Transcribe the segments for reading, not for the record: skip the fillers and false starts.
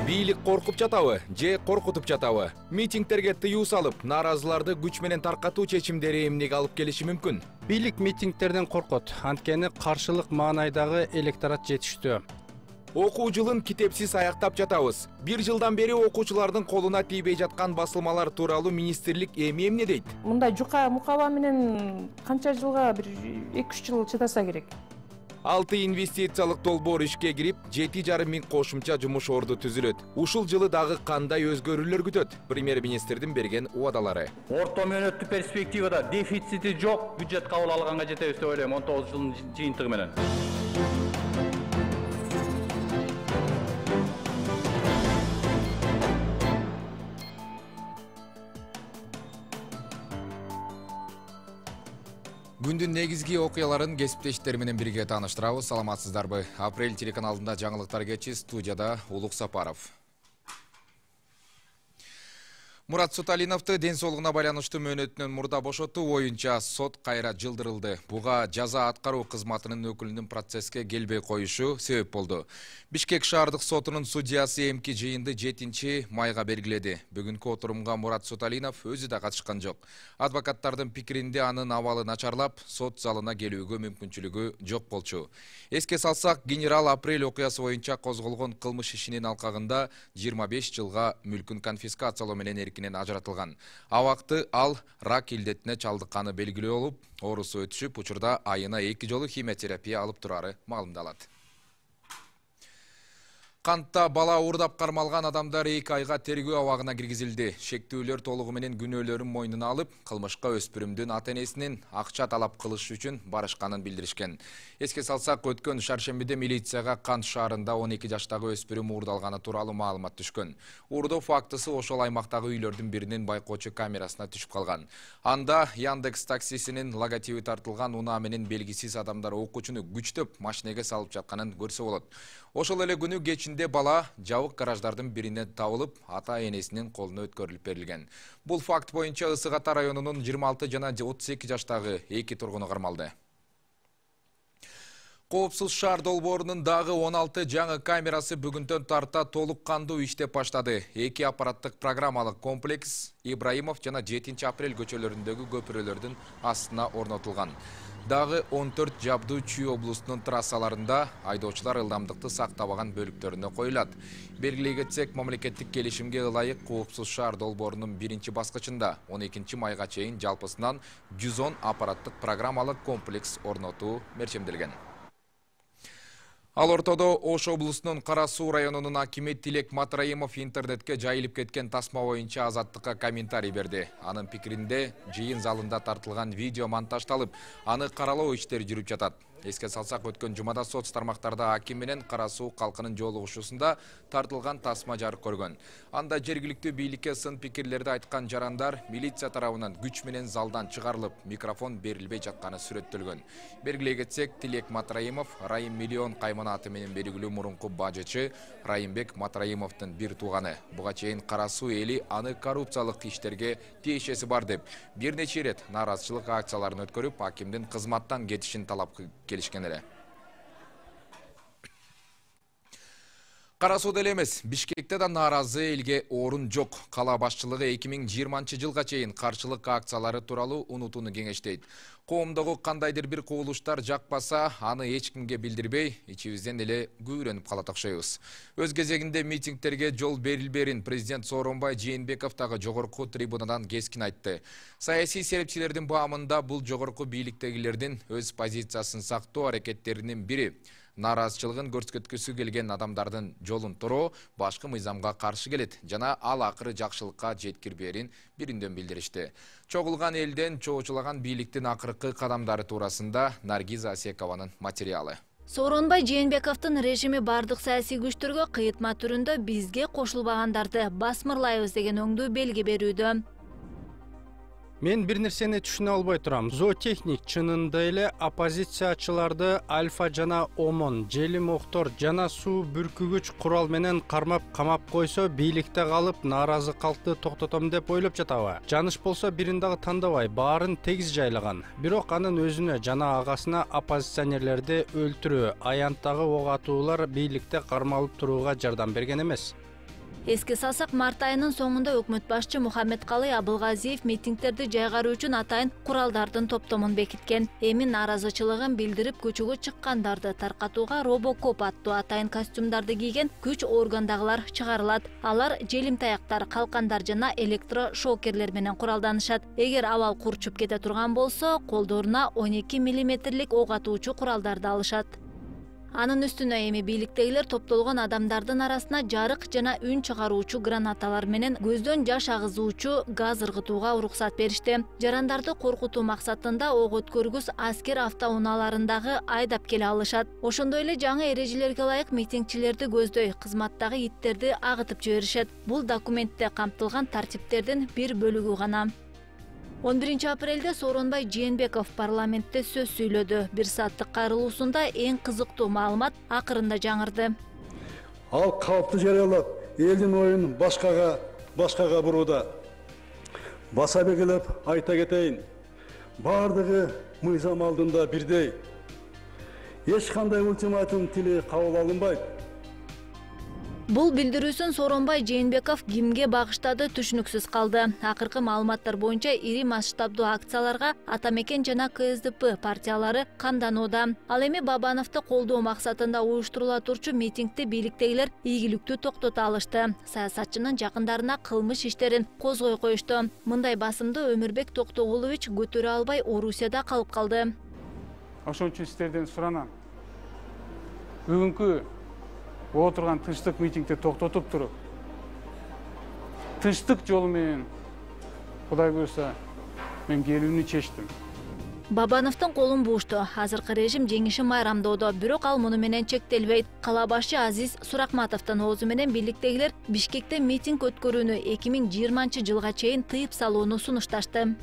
Бийлик коркуп жатабы же коркутуп жатабы? Митингтерге тыюу салып, нааразыларды күч менен таркатуу чечимдери эмнеге алып келиши мүмкүн? Бийлик митингтерден коркот, анткени каршылык маанайдагы электорат жетиштүү. Окуу жылын китепсиз аяктап жатабыз. Бир жылдан бери окуучулардын колуна тийбей жаткан басылмалар тууралуу министрлик эмне дейт? Мындай жука мукаба менен канча жылга, бир 2-3 жыл чыдаса керек. 6 инвестициялык долбоор ишке кирип, 7,5 миң кошумча жумуш орду түзүлөт. Ушул жылы дагы кандай өзгөрүүлөр күтөт? Премьер-министрдин берген убадалары. Орто мөөнөттүк перспективада дефицити жок бюджет кабыл алганга жетебиз деп ойлойм 19 жылдын жыйынтыгы менен. Күндүн негизги окуяларын кесиптештер менен бирге тааныштырабыз. Саламатсыздарбы? Апрель телеканалында жаңылыктар кечи, студияда Улук Сапаров. Мурат Суталиновду ден соолугуна байланыштуу мөөнөтүнөн мурда бошотуу боюнча сот кайра жылдырылды. Буга жаза аткаруу кызматынын өкүлүнүн процесске келбей коюшу себеп болду. Бишкек шаардык сотунун судьясы эмки жыйынды 7-майга белгиледи. Бүгүнкү отурумга Мурат Суталинов өзү да катышкан жок. Адвокаттардын пикиринде анын абалы начарлап, сот залына келүүгө мүмкүнчүлүгү жок болчу. Эске салсак, генерал апрель окуясы боюнча козголгон кылмыш ишинин алкагында 25 жылга мүлкүн конфискациялоо менен ажыратылган. Абакты ал рак илдетине чалдыкканы белгилүү болуп, оорусу өтүшүп, учурда айына 2 жолу химиотерапия алып турары маалымдалат. Кантта бала уурдап кармалган адамдар 2 айга тергөө абагына киргизилди. Шектүүлөр толугу менен күнөөлөрүн мойнуна алып, кылмышка өспүрүмдүн ата-энесинин акча талап кылыш үчүн барышканын билдиришкен. Эске салсак, өткөн шаршембиде милицияга Кант шаарында 12 жаштагы өспүрүм уурдалганы тууралуу маалымат түшкөн. Уурдоо фактысы ошол аймактагы үйлөрдүн биринин байкоочу камерасына түшүп калган. Анда Яндекс таксисинин логотиби тартылган унаа менен белгисиз адамдар окуучуну күчтөп машинеге салып жатканын көрсө болот. Ошол эле күнү кечинде бала жабык гараждардын биринен табылып, ата-энесинин колуна өткөрүлүп берилген. Бул факт боюнча Ысык Ата районунун 26 жана 32 жаштагы 2 тургуну кармалды. Коопсуз шаар долбоорунун дагы 16 жаңы камерасы бүгүндөн тарта толук кандуу иштеп баштады. 2 аппараттык программалык комплекс Ибраимов жана 7 апрель көчөлөрүндөгү көпүрөлөрдүн астына орнотулган. Дагы 14 жабдуу Чүй облусунун трассаларында айдоочулар ылдамдыкты сактабаган бөлүктөрүнө коюлат. Белгилей кетсек, мамлекеттик келишимге ылайык коопсуз шаар долбоорунун 1-баскычында 12 майга чейин жалпысынан 110 аппараттык программалык комплекс орнотуу мерчемделген. Ал ортодо Ош облусунун Кара Суу районунун акими Тилек Матраимов интернетке жайылып кеткен тасма боюнча Азаттыкка комментарий берди. Анын пикиринде, жыйын залында тартылган видео монтаждалып, аны каралоо иштери жүрүп жатат. Эске салсак, өткөн жумада соц тармактарда аким менен Кара Суу калкынын жолугушуусунда тартылган тасма жарык көргөн. Анда жергиликтүү бийликке сын пикирлерди айткан жарандар милиция тарабынан күч менен залдан чыгарылып, микрофон берилбей жатканы сүрөттөлгөн. Белгилей кетсек, Тилек Матраимов Райым Миллион каймана аты менен белгилүү мурунку бажычы Райымбек Матраимовдун бир тууганы. Буга чейин Кара Суу эли аны коррупциялык иштерге тиешеси бар деп бир нече ирет нааразычылык акцияларын өткөрүп, акимдин кызматтан кетишин талап келишкен эле. Кара Сууда эле эмес, Бишкекте да нааразы элге орун жок. Кала башчылыгы 2020 жылга чейин каршылык акциялары тууралуу унутууну кеңештейт. Коомдогу кандайдыр бир кубулуштар жакпаса, аны эч кимге билдирбей, ичибизден эле күйрөнүп калат окшойбуз. Өз кезегинде митингтерге жол берилберин президент Сооронбай Жээнбеков дагы жогорку трибунадан кескин айтты. Саясий серепчилердин баамында бул жогорку бийликтегилердин өз позициясын сактоо аракеттеринин бири. Нааразычылыгын көрсөткүсү келген адамдардын жолун тороо башкы мыйзамга каршы келет жана ал акыры жакшылыкка жеткирбээрин биринден билдиришти. Чогулган элден чоочулаган бийликтин акыркы кадамдары туурасында Наргиза Асекованын материалы. Сооронбай Жээнбековдун режими бардык саясий күчтөргө кыйытма түрүндө бизге кошулбагандарды басмырлайбыз деген оңдуу белги берүүдө. Мен бир нерсени түшүнө албай турам. Зоотехник чынында эле оппозициячыларды Альфа жана Омон, Желим Октор жана суу бүркүгүч курал менен кармап камап койсо, бийликте калып нааразы калкты токтотом деп ойлоп жатабы? Жаныш болсо бирин дагы тандабай, баарын тегиз жайлаган. Бирок анын өзүнө жана агасына оппозиционерлерди өлтүрүү, аянттагы ок атуулар бийликте кармалып турууга жардам берген эмес. Эске салсак, март айынын соңунда өкмөт башчы Мухаммедкалый Абылгазиев митингдерди жайгаруу үчүн атайын куралдардын топтомун бекиткен. Эми нааразычылыгын билдирип көчөгө чыккандарды таркатууга робокоп аттуу атайын костюмдарды кийген күч органдагылар чыгарылат. Алар желимтаяктар, калкандар жана электрошокерлер менен куралданышат. Эгер абал курчуп кете турган болсо, колдоруна 12 мм ок атуучу куралдарды алышат. Анын үстүнө эми бийликтегилер топтолгон адамдардын арасына жарык жана үн чыгаруучу гранаталар менен көздөн жаш агызуучу газ ыргытууга уруксат беришти. Жарандарды коркутуу максатында ок өткөргүс аскер автоунааларындагы айдап келе алышат. Ошондой эле жаңы эрежелерге ылайык митингчилерди көздөй кызматтагы иттерди агытып жиберишет. Бул документте камтылган тартиптердин бир бөлүгү гана. 11 апрелде Сооронбай Жээнбеков парламентте сөз сүйлөдү. 1 сааттык кайрылуусунда эң кызыктуу маалымат акырында жаңырды. Ал калпты жарыялап, элдин оюн башкага бурууда. Баса белгилеп айта кетейин. Бардыгы мыйзам алдында бирдей. Эч кандай ультиматум тили кабыл алынбайт. Бул билдирүүсүн Сооронбай Жээнбеков кимге багыштады түшүнүксүз калды. Акыркы маалыматтар боюнча ири масштабдуу акцияларга Ата Мекен жана КСДП партиялары камданууда. Ал эми Бабановду колдоо максатында уюштурула турчу митингди бийликтегилер ийгиликтүү токтото алышты. Саясатчынын жакындарына кылмыш иштерин козгой коюшту. Мындай басымды Өмүрбек Токтогулович көтөрө албай Орусияда калып калды. Ошон үчүн сиздерден суранам. Бүгүнкү отурган тынчтык митингди токтотуп туруп, тынчтык жолу менен Кудай буйрса мен келүүнү чечтим. Бабановдун колун буушту. Азыркы режим жеңиши майрамдоодо, бирок ал муну менен чектелбейт. Кала башчы Азиз Суракматовдун оозу менен бийликтегилер Бишкекте митинг өткөрүүнү 2020 жылга чейин тыйып салууну сунушташты.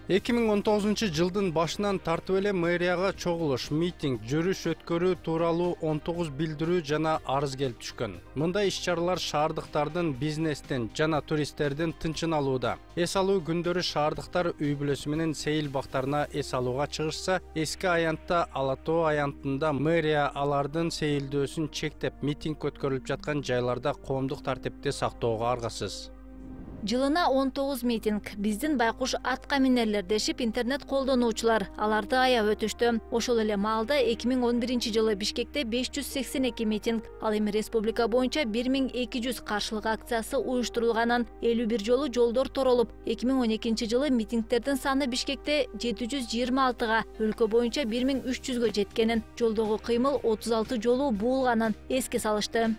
2019 жылдын башынан тартып эле мэрияга чогулуш, митинг, жүрүш өткөрүү тууралуу 19 билдирүү жана арыз келип түшкөн. Мындай иш-чаралар шаардыктардын, бизнестин жана туристтердин тынчын алууда. Эс алуу күндөрү шаардыктар үй бүлөсү менен сейил бактарына эс алууга чыгышса, эски аянтта Ала Тоо аянтында мэрия алардын сейилдөөсүн чектеп, митинг өткөрүлүп жаткан жайларда коомдук тартипти сактоого аргасыз. Жылына 19 митинг. Биздин байкуш атка минерлер дешип интернет колдонуучулар аларды аяп өтүштү. Ошол эле маалда 2011 жылы Бишкекте 582 митинг, ал эми республика боюнча 1200 каршылык акциясы уюштурулганын, 51 жолу жолдор торолуп, 2012 жылы митингтердин саны Бишкекте 726-га, өлкө боюнча 1300-гө жеткенин, жолдогу кыймыл 36 жолу буулганын эске салышты.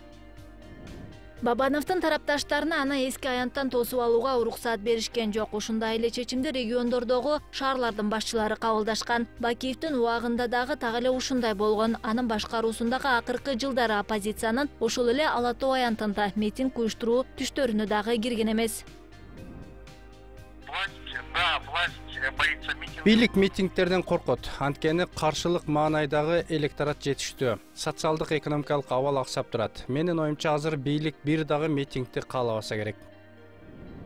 Бабановдун тарапташтарына аны эски аянттан тосуп алууга уруксат беришкен жок. Ушундай эле чечимди региондордогу шаарлардын башчылары кабылдашкан. Бакиевдин убагында дагы так эле ушундай болгон. Анын башкаруусундагы акыркы жылдары оппозициянын ошол эле Ала Тоо аянтында митинг уюштуруу түштөрүнө дагы кирген эмес. Бийлик митингтерден коркот, анткени каршылык маанайдагы электорат жетиштүү. Социалдык экономикалык абал аксап турат. Менин оюмча азыр бийлик бир дагы митингди каалабаса керек.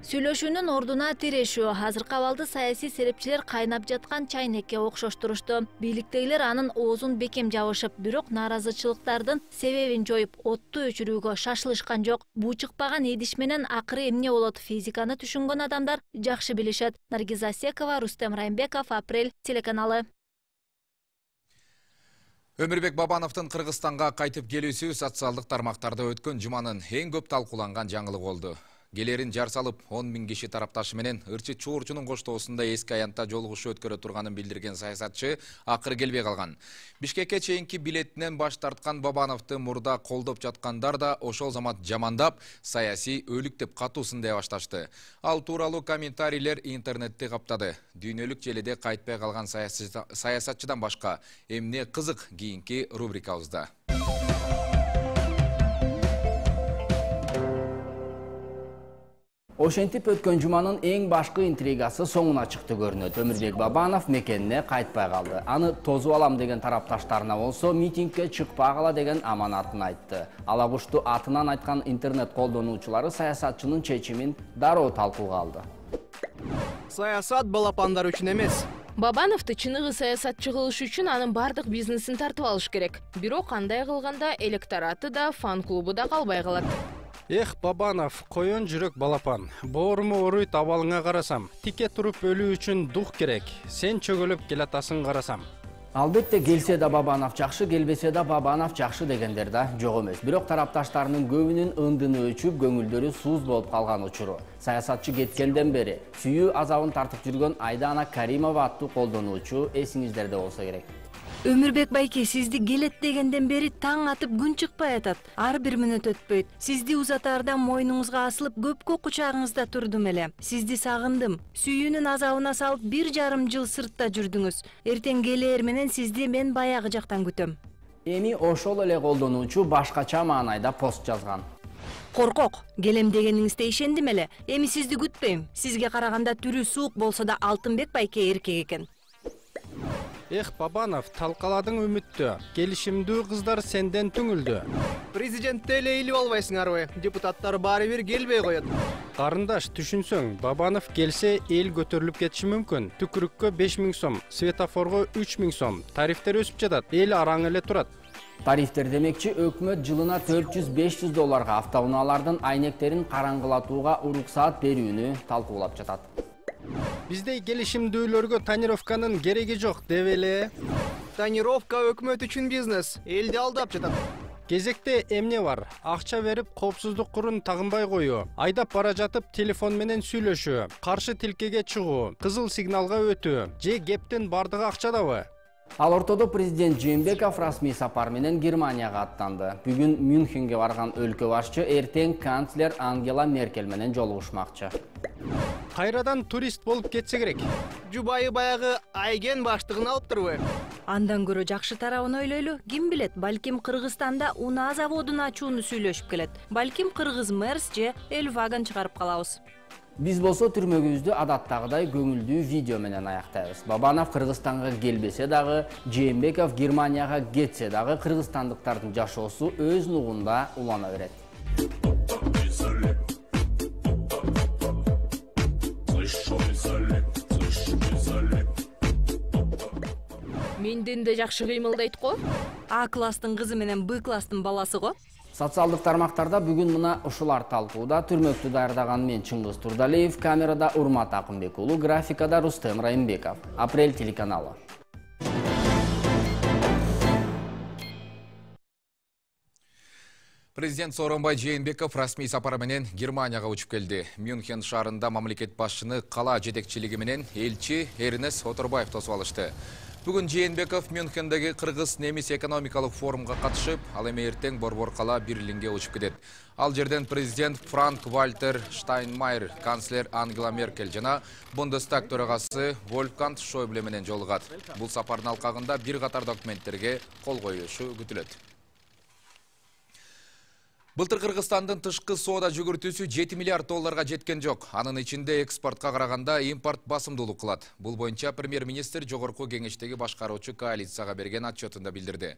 Сүйлөшүүнүн ордуна тирешүү. Азыркы абалды саясий серепчилер кайнап жаткан чайнекке окшоштурушту. Бийликтегилер анын оозун бекем жабышып, бирок нааразычылыктардын себебин жоюп, отту өчүрүүгө шашылышкан жок. Буу чыкпаган идиш менен акыры эмне болот? Физиканы түшүнгөн адамдар жакшы билишет. Наргиза Секова, Рустем Райымбеков, Апрель телеканалы. Өмүрбек Бабановдун Кыргызстанга кайтып келүүсү социалдык тармактарда өткөн жуманын эң көп талкууланган жаңылыгы болду. Келерин жар салып 10 000 киши тарапташы менен ырчы чуурчунун коштоосунда эски аянтта жолугушуу өткөрө турганын билдирген саясатчы акыры келбей калган. Бишкекке чейинки билетинен баш тарткан Бабановду мурда колдоп жаткандар да ошол замат жамандап, саясий өлүк деп катуу сындай башташты. Ал тууралуу комментарийлер интернетти каптады. Дүйнөлүк желеде кайтпай калган саясатчыдан башка эмне кызык кийинки рубрикабызда. Ошентип өткөн жуманын эң башкы интригасы соңуна чыкты көрүнөт. Өмүрбек Бабанов мекенине кайтпай калды. Аны тозуп алам деген тарапташтарына болсо митингке чыкпагыла деген аманатын айтты. Алагушту атынан айткан интернет колдонуучулары саясатчынын чечимин дароо талкууга алды. Саясат балапандар үчүн эмес. Бабановду чыныгы саясатчы кылыш үчүн анын бардык бизнесин тартып алыш керек. Бирок кандай кылганда электораты да, фан-клубу да калбай калат. Эх, Бабанов, коен жүрөк балапан. Бооруму ооруйт абалыңа карасам. Тике туруп өлүү үчүн дух керек. Сен чөгөлөп келатасың карасам. Албетте келсе да Бабанов жакшы, келбесе да Бабанов жакшы дегендер да жок эмес. Бирок тарапташтарынын көбүнүн ындыны өчүп, көңүлдөрү сууз болуп калган учуру. Саясатчы кеткенден бери сүйүү азабын тартып жүргөн Айдана Каримова аттуу колдонуучу эсиңиздерде болсо керек. Өмүрбек байке, сизди келет дегенден бери таң атып күн чыкпай атат. Ар бир мүнөт өтпөйт. Сизди узатаарда мойнуңузга асылып көпкө кучагыңызда турдум эле. Сизди сагындым. Сүйүүнүн азабына салып 1,5 жыл сыртта жүрдүңүз. Эртең келээр менен сизди мен баягы жактан күтөм. Эми ошол эле колдонуучу башкача маанайда пост жазган. Коркок, келем дегениңизде ишендим эле. Эми сизди күтпөйм. Сизге караганда түрү суук болсо да Алтынбек байке эркек экен. Эх, Бабанов, талкаладың үмүттү. Келишимдүү кыздар сенден түңүлдү. Президентте эле илип албайсыңарбы? Депутаттар баары бир келбей коет. Карындаш, түшүнсөң, Бабанов келсе эл көтөрүлүп кетиши мүмкүн. Түкүрүккө 5000 сом, светофорго 3000 сом. Тарифтер өсүп жатат. Эл араң эле турат. Тарифтер демекчи, өкмөт жылына $400-500 автоунаалардын айнектерин караңгылатууга уруксаат берүүнү талкуулап жатат. Биздей келишимдүүлөргө тонировканын кереги жок деп эле. Тонировка өкмөт үчүн бизнес, элди алдап жатат. Кезекте эмне бар? Акча берип коопсуздук курун тагынбай коюу, айдап бара жатып телефон менен сүйлөшүү, каршы тилкеге чыгуу, кызыл сигналга өтүү, же кептин бардыгы акчадабы? Ал ортодо президент Жээнбеков расмий сапар менен Германияга аттанды. Бүгүн Мюнхенге барган өлкө башчы эртең канцлер Ангела Меркель менен жолугушмакчы. Кайрадан турист болуп кетсе керек. Жубайы баягы Айген баштыгын алыптырбы? Андан көрө жакшы тарабын ойлойлу. Ким билет, балким Кыргызстанда унаа заводун ачууну сүйлөшүп келет. Балким кыргыз мэрс же Эльваган чыгарып калабыз. Биз болсо түрмөгүбүздү адаттагыдай көңүлдүү видео менен аяктайбыз. Бабанов Кыргызстанга келбесе дагы, Жээнбеков Германияга кетсе дагы кыргызстандыктардын жашоосу өз нугунда улана берет. Менден да жакшы кыймылдайт го. А класстын кызы менен Б класстын баласы го. Социалдык тармактарда бүгүн мына ушулар талкууда. Түрмөктү даярдаган мен Чыңгыз Турдалиев, камерада Урмат Акынбек уулу, графикада Рустем Райымбеков. Апрель телеканалы. Президент Сооронбай Жээнбеков расмий сапары менен Германияга учуп келди. Мюнхен шаарында мамлекет башчыны кала жетекчилиги менен элчи Эрнест Оторбаев тосуп алышты. Бүгүн Жээнбеков Мюнхендеги кыргыз-немис экономикалык форумга катышып, ал эми эртең Борбор кала Берлинге учуп кетет. Ал жерден президент Франк-Вальтер Штайнмайер, канцлер Ангела Меркель жана Бундестаг төрагасы Вольфганг Шойбле менен жолугат. Бул сапардын алкагында бир катар документтерге кол коюшу күтүлөт. Былтыр Кыргызстандын тышкы соода жүгүртүүсү $7 миллиард жеткен жок. Анын ичинде экспортко караганда импорт басымдуулук кылат. Бул боюнча премьер-министр жогорку кеңештеги башкаруучу коалицияга берген отчетунда билдирди.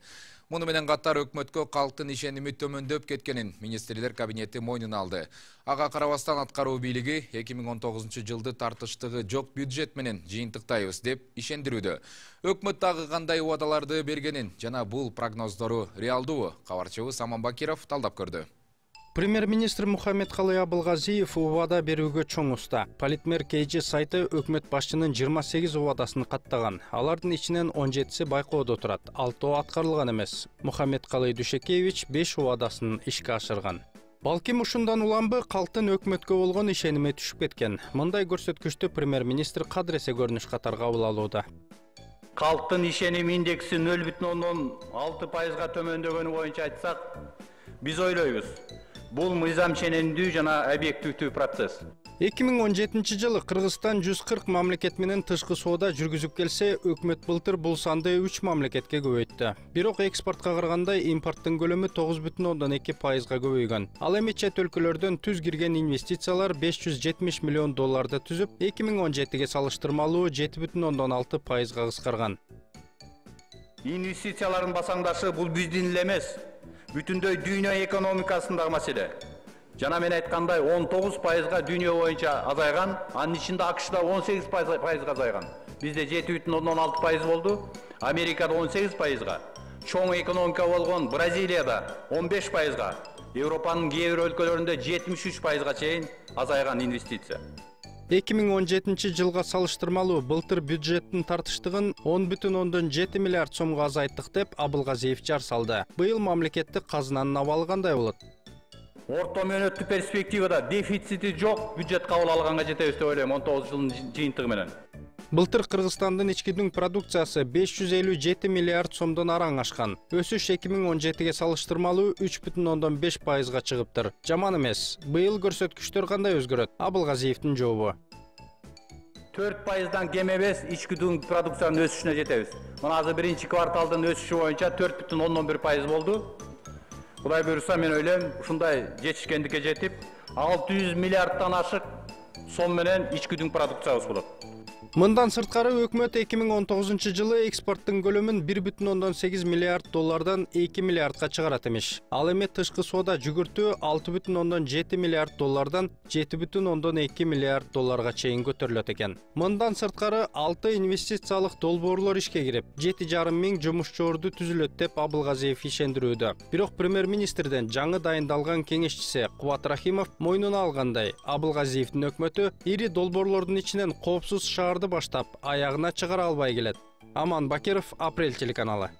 Муну менен катар өкмөткө калктын ишеними төмөндөп кеткенин министрлер кабинети мойнуна алды. Ага карабастан аткаруу бийлиги 2019-жылды тартыштыгы жок бюджет менен жыйынтыктайбыз деп ишендирүүдө. Өкмөт дагы кандай убадаларды бергенин жана бул прогноздору реалдуубу? Кабарчыбыз Аман Бакиров талдап көрдү. Премьер-министр Мухаммедкалый Абылгазиев убада берүүгө чоң уста. Политмер KG сайты өкмөт башчынын 28 убадасын каттаган. Алардын ичинен 17си байкоодо турат. 6 аткарылган эмес. Мухаммедкалый Дүйшөкеевич 5 убадасын ишке ашырган. Балким ушундан уламбы калктын өкмөткө болгон ишеними түшүп кеткен. Мындай көрсөткүчтү премьер-министр кадыресе көрүнүш катары кабыл алууда. Калктын ишеним индекси 0,6%га төмөндөгөнү боюнча айтсак, биз ойлойбуз. Бул мыйзам ченемдүү жана объективдүү процесс. 2017 жылы Кыргызстан 140 мамлекет менен тышкы соода жүргүзүп келсе, өкмөт былтыр бул санды 3 мамлекетке көбөйттү. Бирок экспортко караганда импорттун көлөмү 9,2%га көбөйгөн. Ал эми чет өлкөлөрдөн түз кирген инвестициялар $570 миллион түзүп, 2017-ге салыштырмалуу 7,6%га кыскарган. Инвестициялардын басаңдашы бул биздин эле эмес. Бүтүндөй дүйнө экономикасындагы маселе. Жана мен айткандай 19%га дүйнө боюнча азайган, анын ичинде АКШда 18%га азайган. бизде 7,16% болду, Америкада 18%га, чоң экономика болгон Бразилияда 15%га, Европанын кээ бир өлкөлөрүндө 73%га чейин азайган инвестиция. 2017 жылга салыштырмалуу былтыр бюджеттин тартыштыгын 10,7 миллиард сомго азайттык деп Абылгазиев жар салды. Быйыл мамлекеттик казынанын абалы кандай болот? Орто мөөнөттүк перспективада дефицити жок бюджет кабыл алганга жетебиз деп ойлойм 19 жылдын жыйынтыгы менен. Былтыр Кыргызстандын ички дүң продукциясы 557 миллиард сомдон араң ашкан. Өсүш 2017ге салыштырмалуу 3,5%га чыгыптыр. Жаман эмес. Быйыл көрсөткүчтөр кандай өзгөрөт? Абылгазиевдин жообу. 4%дан кем эмес ички дүң продукциянын өсүшүнө жетебиз. Мына азыр биринчи кварталдын өсүшү боюнча 4,11% болду. Кудай буйруса мен ойлойм, ушундай жетишкендикке жетип, 600 миллиарддан ашык сом менен ички дүң продукциябыз болот. Мындан сырткары өкмөт 2019 жылы экспорттун көлөмүн 1,8 миллиард доллардан 2 миллиардга чыгарат эмиш. Ал эми тышкы соода жүгүртүү 6,7 миллиард доллардан 7,2 миллиард долларга чейин көтөрүлөт экен. Мындан сырткары 6 инвестициялык долбоорлор ишке кирип, 7,5 миң жумушчу орду түзүлөт деп Абылгазиев ишендирүүдө. Бирок премьер-министрден жаңы дайындалган кеңешчиси Кубат Рахимов мойнуна алгандай, Абылгазиевдин өкмөтү ири долбоорлордун ичинен коопсуз шаар баштап, аягына чыгара албай келет. Аман Бакиров, Апрель телеканалы.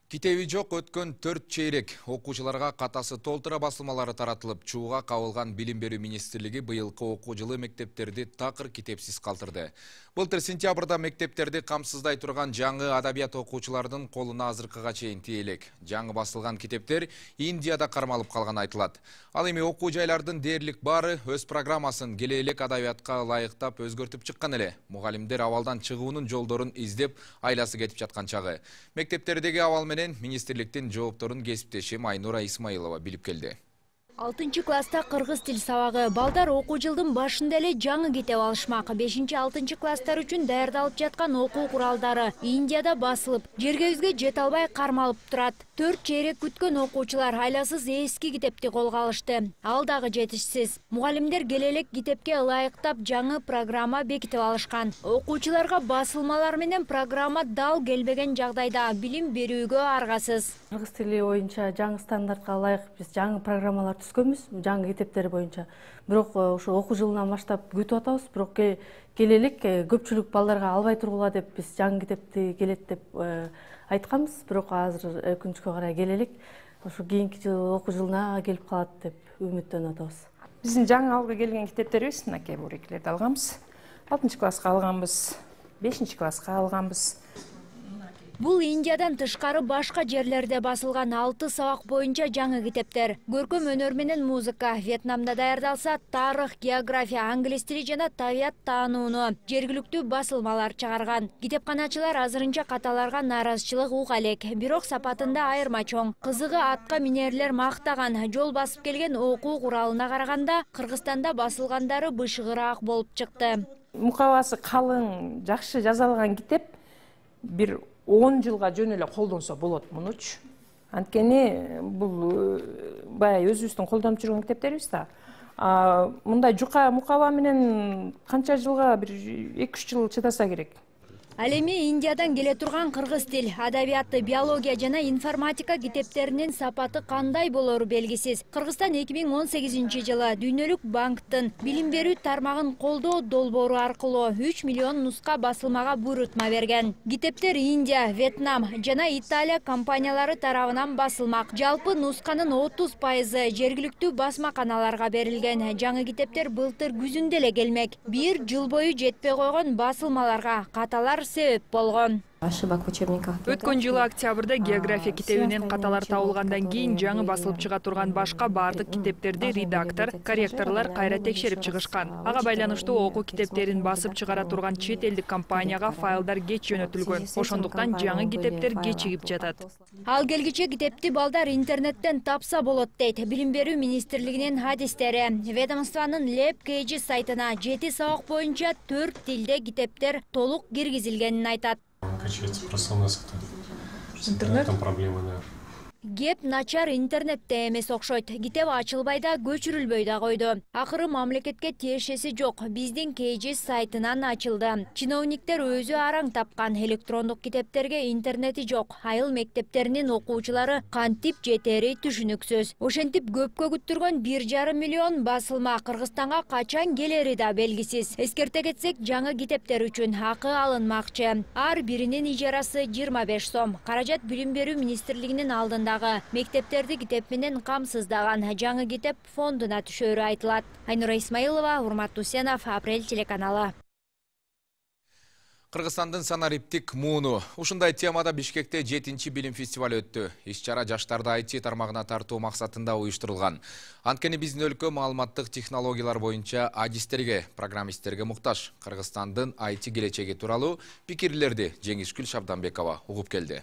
Китеби жок өткөн 4 чейрек окуучуларга катасы толтура басылмалары таратылып, чууга кабылган Билим берүү министрлиги быйылкы окуу жылы мектептерди такыр китепсиз калтырды. Былтыр сентябрда мектептерди камсыздай турган жаңы адабият окуучулардын колуна азыркыга чейин тие элек. Жаңы басылган китептер Индияда кармалып калган айтылат. Ал эми окуу жайлардын дээрлик баары өз программасын келе элек адабиятка ылайыктап өзгөртүп чыккан эле. Мугалимдер абалдан чыгуунун жолдорун издеп айласы кетип жаткан чагы. Мектептердеги абал менен министрликтин жоопторун кесиптешим Айнура Исмаилова билип келди. 6-класста кыргыз тил сабагы. Балдар окуу жылдын башында эле жаңы китеп алышмак. 5-6 класстар үчүн даярдалып жаткан окуу куралдары Индияда басылып, жергебизге жете албай кармалып турат. 4 чейрек күткөн окуучулар айласыз эски китепти колго алышты. Ал дагы жетишсиз. Мугалимдер келе элек китепке ылайыктап жаңы программа бекитип алышкан. Окуучуларга басылмалар менен программа дал келбеген жагдайда билим берүүгө аргасыз. Кыргыз тили боюнча жаңы стандартка ылайык биз жаңы программалар түзгөнбүз, жаңы китептер боюнча. Бирок ошо окуу жылынан баштап күтүп атабыз, бирок келе элек көпчүлүк балдарга албай тургула деп биз жаңы китепти келет деп айтканбыз, бирок азыр өкүнүчкө карай келе элек ошо кийинки жыл окуу жылына келип калат деп үмүттөнүп атабыз. Биздин жаңы алга келген китептерибиз мынакей бурекилерди алганбыз. 6-класска алганбыз, 5-класска алганбыз. Бул Индиядан тышкары башка жерлерде басылган 6 сабак боюнча жаңы китептер. Көркөм өнөр менен музыка, Вьетнамда даярдалса, тарых, география, англис тили жана табият таанууну жергиликтүү басылмалар чыгарган. Китепканачылар азырынча каталарга нааразычылык уга элек, бирок сапатында айырма чоң. Кызыгы атка минерлер мактаган, жол басып келген окуу куралына караганда Кыргызстанда басылгандары бышыгыраак болуп чыкты. Мукабасы калың, жакшы жазалган китеп бир 10 жылга жөн эле колдонсо болот мунучу. Анткени бул баягы өзүбүздүн колдонуп жүргөн китептерибиз да. Мындай жука мукаба менен канча жылга бир 2-3 жыл чыдаса керек. Ал эми Индиядан келе турган кыргыз тил, адабияты, биология жана информатика китептеринин сапаты кандай болору белгисиз. Кыргызстан 2018 жылы Дүйнөлүк банктын билим берүү тармагын колдоо долбоору аркылуу 3 миллион нуска басылмага буйрутма берген. Китептер Индия, Вьетнам жана Италия компаниялары тарабынан басылмак. Жалпы нусканын 30% жергиликтүү басмаканаларга берилген. Жаңы китептер былтыр күзүндө эле келмек. Бир жыл бою жетпей койгон басылмаларга каталар себеп болгон. Өткөн жылы октябрда география китебинен каталар табылгандан кийин жаңы басылып чыга турган башка бардык китептерди редактор, корректорлор кайра текшерип чыгышкан. Ага байланыштуу окуу китептерин басып чыгара турган чет элдик компанияга файлдар кеч жөнөтүлгөн. Ошондуктан жаңы китептер кечигип жатат. Ал келгиче китепти балдар интернеттен тапса болот дейт Билим берүү министрлигинин адистери. Ведомствонун LabKG сайтына 7 сабак боюнча 4 тилде китептер толук киргизилгенин айтат. Качается просто у нас это интернет, там проблемы, да. Кеп начар интернетте эмес окшойт. Китеп ачылбай да, көчүрүлбөй да койду. Акыры мамлекетке тиешеси жок. Биздин KGS сайтынан ачылды. Чиновниктер өзү араң тапкан электрондук китептерге интернети жок. Айыл мектептеринин окуучулары кантип жетери түшүнүксүз. Ошентип көпкө күттүргөн 1,5 миллион басылма Кыргызстанга качан келери да белгисиз. Эскерте кетсек, жаңы китептер үчүн акы алынмакчы. Ар биринин ижарасы 25 сом. Каражат Билим берүү министрлигинин алдында мектептерди китеп менен камсыздаган жаңы китеп фондуна түшөрү айтылат. Айнура Исмаилова, Урмат Усенов, Апрель телеканалы. Кыргызстандын санариптик мууну. Ушундай темада Бишкекте 7-чи билим фестивалы өттү. Иш-чара жаштарды IT тармагына тартуу максатында уюштурулган. Анткени биздин өлкө маалыматтык технологиялар боюнча адистерге, программисттерге муктаж. Кыргызстандын IT келечеги тууралуу пикирлерди Жеңишгүл Шабданбекова угуп келди.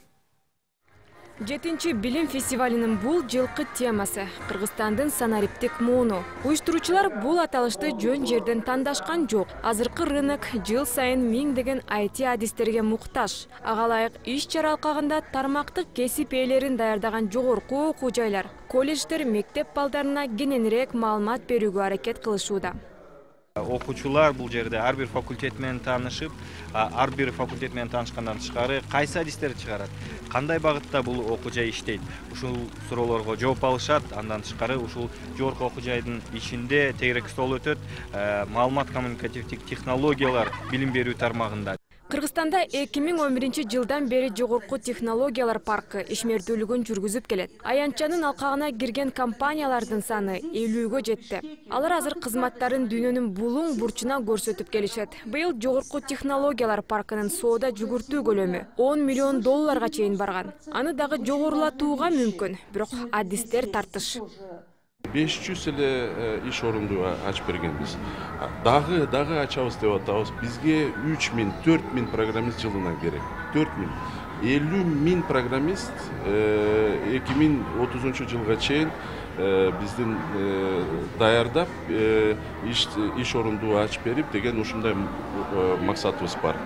7-чи билим фестивалынын бул жылкы темасы Кыргызстандын санариптик мууну. Уюштуруучулар бул аталышты жөн жерден тандашкан жок. Азыркы рынок жыл сайын миңдеген IT адистерге муктаж. Ага ылайык иш-чара алкагында тармактык кесип ээлерин даярдаган жогорку окуу жайлар, колледждер мектеп балдарына кененирээк маалымат берүүгө аракет кылышууда. Окуучулар бул жерде ар бир факультет менен таанышып, ар бир факультет менен таанышкандан тышкары кайсы адистерди чыгарат, кандай багытта бул окуу жай иштейт, ушул суроолорго жооп алышат. Андан тышкары ушул жогорку окуу жайдын ичинде тегерек стол өтөт, маалымат коммуникативдик технологиялар билим берүү тармагында. Кыргызстанда 2011 жылдан бери жогорку технологиялар паркы ишмердүүлүгүн жүргүзүп келет. Аянтчанын алкагына кирген компаниялардын саны 50-гө жетти. Алар азыр кызматтарын дүйнөнүн булуң бурчуна көрсөтүп келишет. Быйыл жогорку технологиялар паркынын соода жүгүртүү көлөмү $10 миллион чейин барган. Аны дагы жогорулатууга мүмкүн, бирок адистер тартыш. 500 эле иш орунду ачып бергенбиз. Дагы ачабыз деп атабыз. Бизге 3000, 4000 программист жылына керек. 4000. 50.000 программист 2030 жылга чейин биздин даярдап иш орунду ачып берип деген ушундай максатыбыз бар.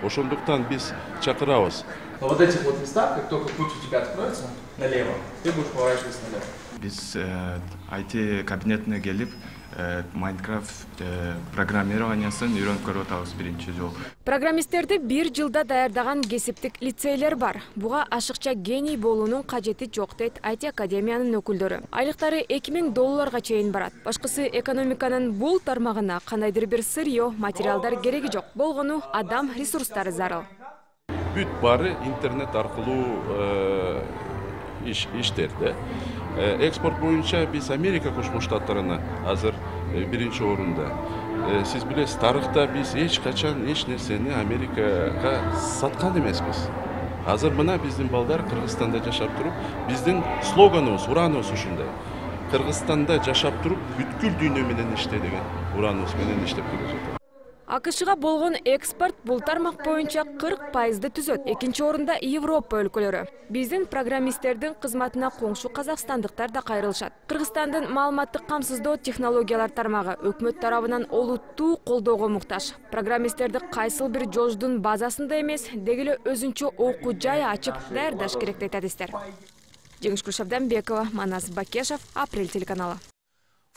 Ошондуктан биз чакырабыз. Вот этих вот местах, как только путь у тебя откроется налево, ты будешь поворачиваться налево. Биз IT кабинетине келип, Майнкрафт программированиясын үйрөнүп көрүп атабыз биринчи жолу. Программисттерди 1 жылда даярдаган кесиптик лицейлер бар. Буга ашыкча гений болуунун кажети жок дейт IT академиянын өкүлдөрү. Айлыктары $2000 чейин барат. Башкысы экономиканын бул тармагына кандайдыр бир сырьё, материалдар кереги жок. Болгону адам ресурстары зарыл. Бүт бары интернет аркылуу иштерде. Экспорт боюнча биз Америка Кошмо Штаттарына азыр биринчи орунда. Сиз билесиз, тарыхта биз эч качан эч нерсени Америкага саткан эмеспиз. Азыр мына биздин балдар Кыргызстанда жашап туруп, биздин слоганыбыз, ураныбыз ушундай. Кыргызстанда жашап туруп, бүткүл дүйнө менен иште деген ураныбыз менен иштеп келе жатат. АКШга болгон экспорт бул тармак боюнча 40% түзөт. Экинчи орунда Европа өлкөлөрү. Биздин программисттердин кызматына коңшу казакстандыктар да кайрылышат. Кыргызстандын маалыматтык камсыздоо технологиялар тармагы өкмөт тарабынан олуттуу колдоого муктаж. Программисттерди кайсыл бир жолдун базасында эмес, деги эле өзүнчө окуу жай ачып даярдаш керек дейт адистер. Жеңишгүл Шабданбекова, Манас Бакешев, Апрель телеканалы.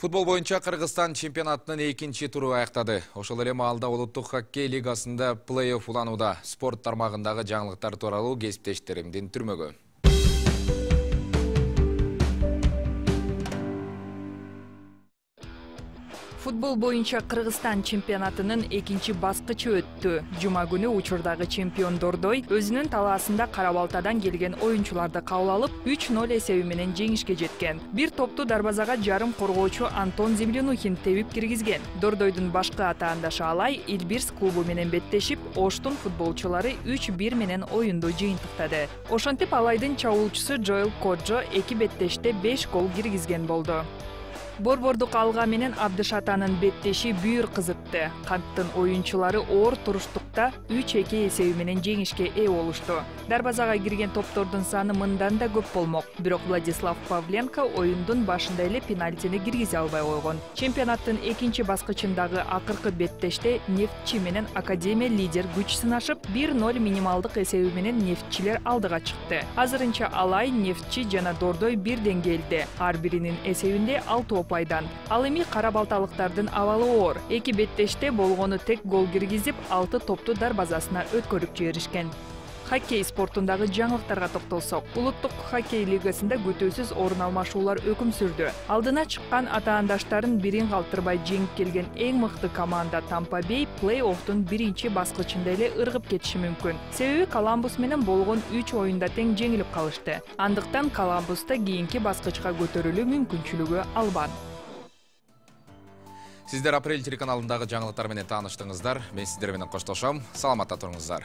Футбол боюнча Кыргызстан чемпионатынын 2-чи туру аяктады. Ошол эле маалда улуттук хоккей лигасында плей-офф уланууда. Спорт тармагындагы жаңылыктар тууралуу кесиптештеримдин түрмөгү. Футбол боюнча Кыргызстан чемпионатынын 2-чи баскычы өттү. Жума күнү учурдагы чемпион Дордой өзүнүн талаасында Кара-Балтадан келген оюнчуларды кабыл алып, 3-0 эсеби менен жеңишке жеткен. Бир топту дарбазага жарым коргоочу Антон Землянухин тебип киргизген. Дордойдун башкы атаандашы Алай Илбирс клубу менен беттешип, Оштун футболчулары 3-1 менен оюнду жыйынтыктады. Ошентип Алайдын чабуулчусу Джоэл Коджо эки беттеште 5 гол киргизген болду. Борбордук алга менен Абдышатанын беттеши бүйүр кызытты. Канттын оюнчулары оор туруштукка матчта 3-2 эсеби менен жеңишке ээ болушту. Дарбазага кирген топтордун саны мындан да көп болмок. Бирок Владислав Павленко оюндун башында эле пенальтини киргизе албай койгон. Чемпионаттын экинчи баскычындагы акыркы беттеште Нефтчи менен Академия лидер күч сынашып, 1-0 минималдык эсеби менен Нефтчилер алдыга чыкты. Азырынча Алай, Нефтчи жана Дордой бирден келди. Ар биринин эсебинде 6 опайдан. Ал эми кара балталыктардын абалы оор. Эки беттеште болгону тек гол киргизип, 6 топту дарбазасына өткөрүп жиберишкен. Хоккей спортундагы жаңылыктарга токтолсок, улуттук хоккей лигасында күтүүсүз орун алмашуулар өкүм сүрдү. Алдына чыккан атаандаштарын бирин калтырбай жеңип келген эң мыкты команда Тампа Бей плей-оффтун биринчи баскычында эле ыргып кетиши мүмкүн. Себеби Коламбус менен болгон 3 оюнда тең жеңилип калышты. Андыктан Коламбуста кийинки баскычка көтөрүлүү мүмкүнчүлүгү албан. Сиздер Апрель телеканалындагы жаңылыктар менен тааныштыңыздар. Мен сиздер менен коштошом. Саламатта туруңуздар.